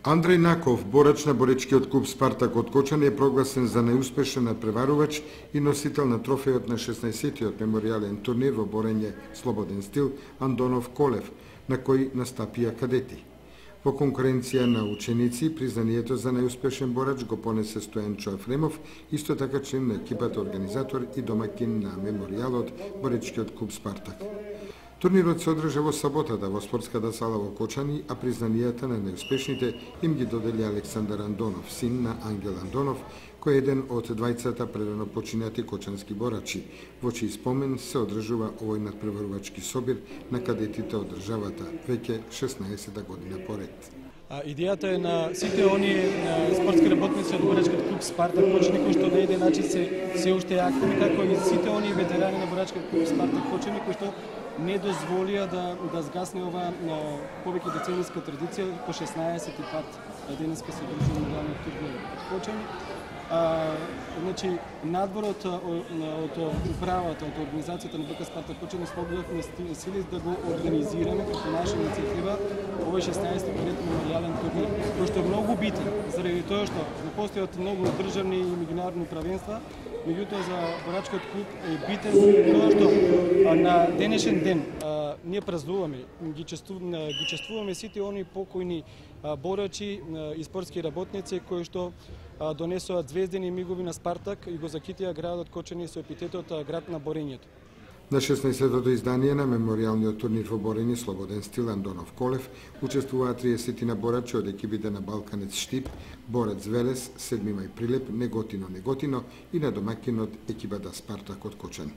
Андреј Наков, борач на боречкиот клуб Спартак од Кочани, е прогласен за најуспешен надпреварувач и носител на трофејот на 16-тиот меморијален турнир во борење слободен стил Андонов Колев, на кој настапија кадети. Во конкуренција на ученици, признанието за најуспешен борач го понесе Стојанчо Ефремов, исто така член на екипата организатор и домакин на меморијалот боречкиот клуб Спартак. Турнирот се одржа во саботата во спортската сала во Кочани, а признанијата на најуспешните им ги додели Александар Андонов, син на Ангел Андонов, кој е еден од двајцата прерано починати кочански борачи, во чиј спомен се одржува овој надпреварувачки собир на кадетите од државата, веќе 16-та година поред. Идејата е на сите оние спортски работници од борачкиот клуб Спартак Кочани, кои што на еден начин се уште активни, како и сите оние ветерани на борачкиот клуб Спартак Кочани, кои што не дозволија да згасне оваа повеќе деценијска традиција, по 16-ти пат денеска се одржува меморијалниот турнир од Кочани. Значи, надворот од управата, од организацијата на БК Спартак Кочани спогледавме сили да го организираме како наша иницијатива овој 16-ти меморијален турнир, кој што е многу битен, заради тоа што не постојат многу државни и меѓународни правенства, меѓутоа за борачкиот клуб е битен тоа што на денешен ден ние празнуваме, ги чествуваме сите оние покојни борачи и спортски работници кои што донесоа звездени мигови на Спартак и го закитија градот Кочани со епитетот град на борењето. На 16-тото издание на меморијалниот турнир во борење слободен стил Андонов Колев учествуваа 30 борачи од екипите на Балканец Штип, Борец Велес, Седми мај Прилеп, Неготино и на домакинот екипата Спартак од Кочани.